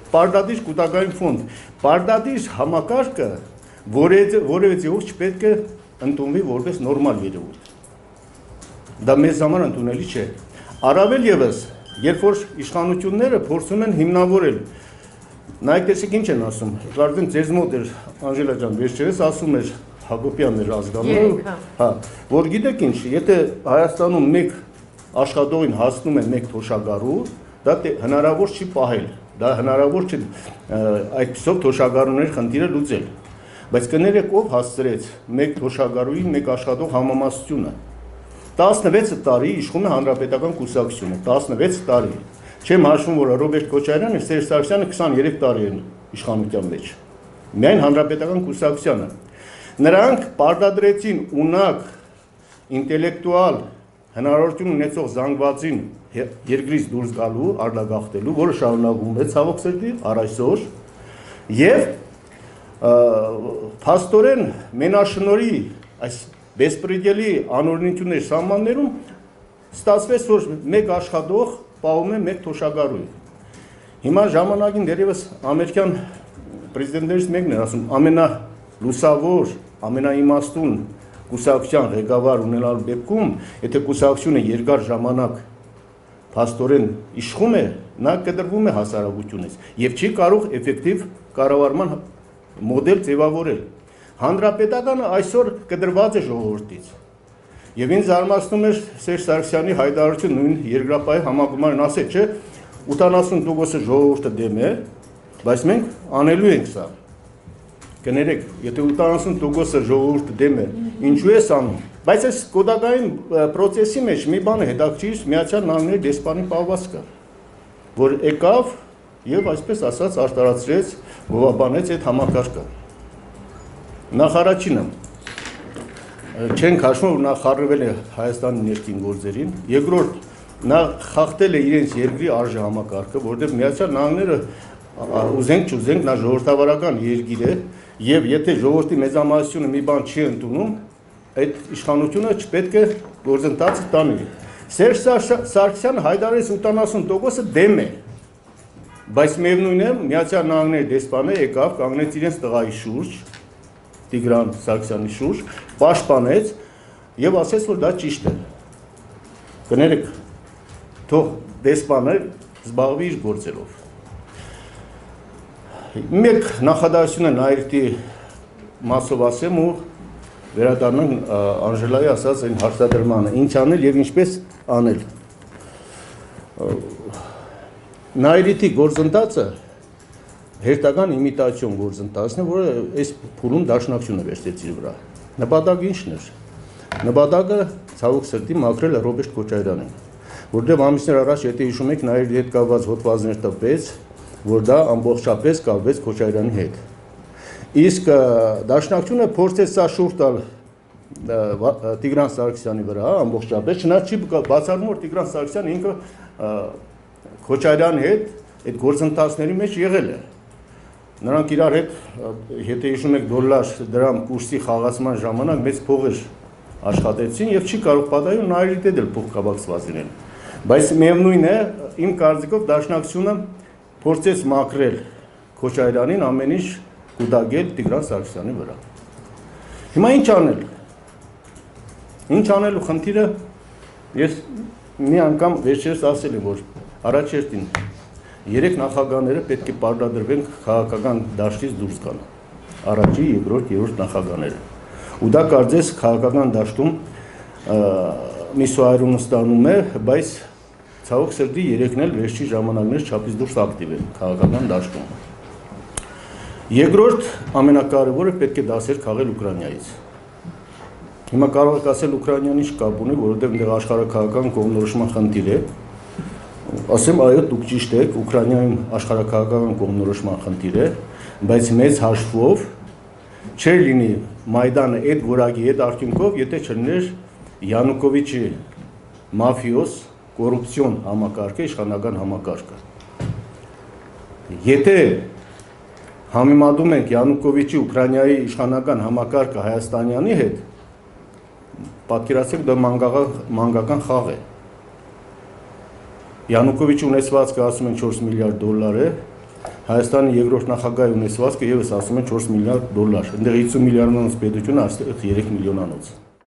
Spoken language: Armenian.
պարտադիր կուտակային ֆոնդ, պարտադիր համակարգը որևէ ձևով չպետք է ընդունվի որպես նորմալ երևույթ։ Դա մեզ համար ընդունելի չէ։ Առավել ևս, երբ որ իշխանությունները փորձում են հիմնավորել, նայեք տեսեք ինչ են ասում, կարծեմ ձեզ մոտ էր Անժելա ջան, վերջերս ասում էր Հակոբյանն էր ազգանունը, որ գիտեք ինչ, եթե Հայաստանում մեկ աշխատողին հասնում է մեկ թոշակառու, դա հնարավոր չի պահել, դա հնարավոր չի այդպիսով թոշակառուների խնդիրը լուծել, բայց կներեք ով հասցրեց մեկ թոշակառուի մեկ աշխատող համամասնությունը, 16 տարի իշխում է հանրապետական կուսակցությունը, 16 տարի, չեմ հաշվում, որ Ռոբերտ Քոչարյանը, Սերժ Սարգսյանը 23 տարի են իշխանության մեջ, միայն հանրապետական կուսակցությանը, նրանք պարտադրեցին ունակ, ինտելեկտուալ, հնարավորություն ունեցող զանգվածին երկրից դուրս գալու, արտագաղթելու, որը շարունակվում է ցավոք սրտի առ այսօր, եւ փաստորեն մենաշնորհի այս Բեսպրեդելի անօրինությունների սահմաններում ստացվեց, որ մեկ աշխատող պահում է մեկ թոշակառուի։ Հիմա ժամանակին դեռևս ամերիկյան պրեզիդենտներից մեկն էր ասում, ամենալուսավոր, ամենաիմաստուն կուսակցության ղեկավար ունենալու դեպքում, եթե կուսակցությունը երկար ժամանակ փաստորեն իշխում է, նա կտրվում է հասարակությունից եւ չի կարող էֆեկտիվ կառավարման մոդել ձևավորել։ Հանրապետականը այսօր կտրված է ժողովրդից։ Եվ ինձ զարմացնում էր Սերժ Սարգսյանի հայտարարությունը նույն երկրապահի համագումարն ասել, չէ, 80% ժողովուրդը դեմ է, բայց մենք անելու ենք սա։ Կներեք, եթե 80% ժողովուրդը դեմ է, ինչու է անում։ Բայց այս կոդակային process-ի մեջ մի բան է հետաքրքիր, Միացյալ Նահանգների դեսպանի պահվածքը, որ եկավ եւ այսպես ասած արտարացրեց, գովաբանեց այդ համակարգը։ Նախարարինը չենք հաշվում, որ նա խառնվել է Հայաստանի ներքին գործերին, երկրորդ նա խախտել է իրենց երկրի արժե համակարգը, որտեղ Միացյալ Նահանգները ուզենք չուզենք նա ժողովրդավարական երկիր է, եւ եթե ժողովրդի մեծամասնությունը մի բան չի ընդունում, այդ իշխանությունը չպետք է գործընթացը տանի։ Սերժ Սարգսյանը հայտարարեց 80%-ը դեմ է, բայց միևնույն է Միացյալ Նահանգների դեսպանը եկավ, կանգնեց իրենց տղայի շուրջ, Տիգրան Սարգսյանի շուրջ, պաշտպանեց եւ ասեց, որ դա ճիշտ է։ Կներեք, թող դեսպանը զբաղվի իր գործերով։ Մեկ նախադասություն է Նայիրտի մասով ասեմ ու վերադառնանք Անժելայի ասած այն հարցադրմանը, ինչ անել եւ ինչպես անել։ Նայիրտի գործընթացը հերթական իմիտացիոն գործընթացն է, որը այս փուլում դաշնակցությունը վերցրեց իր վրա։ Նպատակը ինչն էր։ Նպատակը ցավոք սրտի մաքրել է Ռոբերտ Քոչարյանին, որտեղ ամիսներ առաջ, եթե հիշում եք, Նայիրի հետ կապված հոդվածներ տպեց, որ դա ամբողջապես կապվեց Քոչարյանի հետ։ Իսկ դաշնակցությունը փորձեց սա շուրջ տալ Տիգրան Սարգսյանի վրա ամբողջապես, չնայած չի բացառում, որ Տիգրան Սարգսյանը ինքը Քոչարյանի հետ այդ գործընթացների մեջ եղել է։ Նրանք իրար հետ, եթե հիշում եք դոլար դրամ կուրսի խաղացման ժամանակ մեծ փողեր աշխատեցին եւ չի կարող պատահել Նայիրի հետ էլ փող կապակցված լինել։ Բայց միևնույն է, իմ կարծիքով դաշնակցությունը փորձեց մաքրել Քոչարյանին ամեն ինչ կուտակել Տիգրան Սարգսյանի վրա։ Հիմա ինչ անել։ Ինչ անելու խնդիրը ես մի անգամ վերջերս ասել եմ, որ առաջերտին 3 նախագահները պետք է պարտադրվեն քաղաքական դաշտից դուրս գան։ Առաջի, երկրորդ, երրորդ նախագահները։ Ու դա կարծես քաղաքական դաշտում մի սոայրուն ստանում է, բայց ցավոք սրտի երեքն էլ վերջի ժամանակներ չափից դուրս ակտիվ են քաղաքական դաշտում։ Երկրորդ ամենակարևորը պետք է դասեր քաղել Ուկրաինայից։ Հիմա կարող եք ասել Ուկրաինան ինչ կապ ունի, որովհետև այնտեղ աշխարհաքաղաքական կողմնորոշման խնդիր է։ Ասեմ, այո, դուք ճիշտ եք, Ուկրաինայում աշխարհաքաղաքական կողմնորոշման խնդիր է, բայց մեծ հաշվով չէր լինի Մայդանը այդ որակի այդ արդյունքով, եթե չլիներ Յանուկովիչի մաֆիոս կոռուպցիոն համակարգը, իշխանական համակարգը։ Եթե համեմատում ենք Յանուկովիչի Ուկրաինայի իշխանական համակարգը Հայաստանյանի հետ, պատկերացրեք դա մանկական խաղ է։ Յանուկովիչի ունեցվածքը ասում են 4 միլիարդ դոլար է, Հայաստանի երկրորդ նախագահի ունեցվածքը եւս ասում են 4 միլիարդ դոլար։ Այնտեղ 50 միլիարդանոց պետությունը, այստեղ 3 միլիոնանոց։